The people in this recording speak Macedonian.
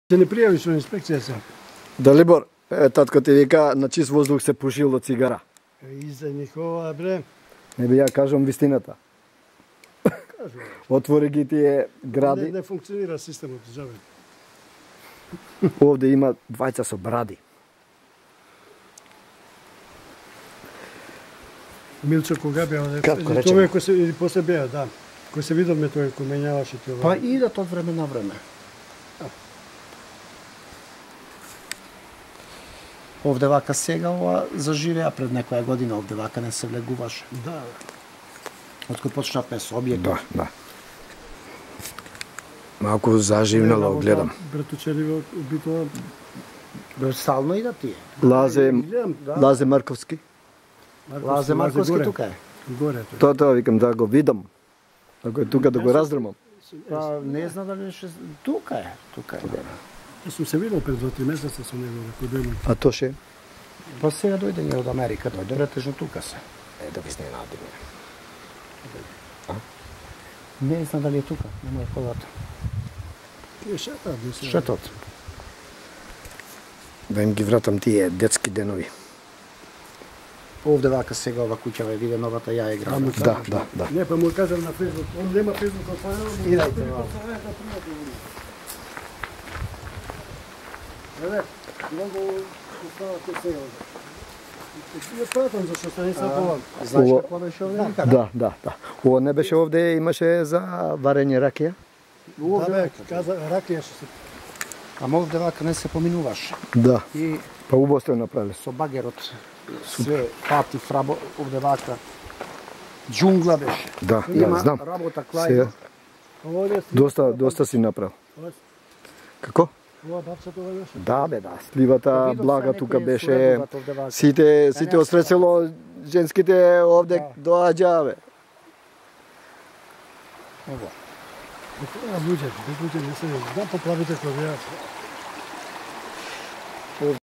Се не пријавиш во инспекција се. Далибор, татко ти вика на чист воздух се пушило цигара. Издajnik ова бре. Не би ја кажам вистината. Кажу. Отвори ги тие гради. Не функционира системот џабе. Овде има двајца со бради. Милчо кога беа, Кратко речено. тоа кој се или после беа, да. Кој се видовме тој кој менјаваше тоа. Па идат од време на време. Овде вака сега ова заживеа пред некоја година, овде вака не се влегуваше. Да. Откој почнавме со објектот. Да, да. Малку заживнало гледам. Братучеливо убитува. Стално идат тие. Лазе Марковски. Лазе Марковски тука е. Горе тој. Тоа викам да го видам. Ако е тука да го раздрмам. Па не знам дали ше тука е, тука е. Јас сум се видел пред 2-3 месеца со него кој беа. А то ше? Па сега дојде ние од Америка, дојде претежно тука се. Да ви изненадим. Не знам дали е тука, нема е колата. Тие шетаат, не се. Шетот. Да им ги вратам тие детски денови. Овде вака сега ова куќа ве виде новата ја е града. Да. Не, па му кажам на Facebook, он нема Facebook отворено. Идете, вау. Еве, много оставате сега. Ја пратам зашто се не сам повам. Знаеш какво беше овде никаде? Да. Ова не беше овде, имаше за варење ракија? Да бе, каза ракија што се. Ама овде вака не се поминуваше. Да. И Па убаво сте направиле. со багерот све пати фрабо овде вака џунгла беше. Да, Има знам. работа Сега, клај. доста си направил. Како? Ова бабцата ова беше. Да, бе, да. Сливата Видов блага се тука некои беше. суредуваат овде вака. Сите од село женските овде доаѓаа, бе. Ова. Луѓе не се, да поплавите кој беа.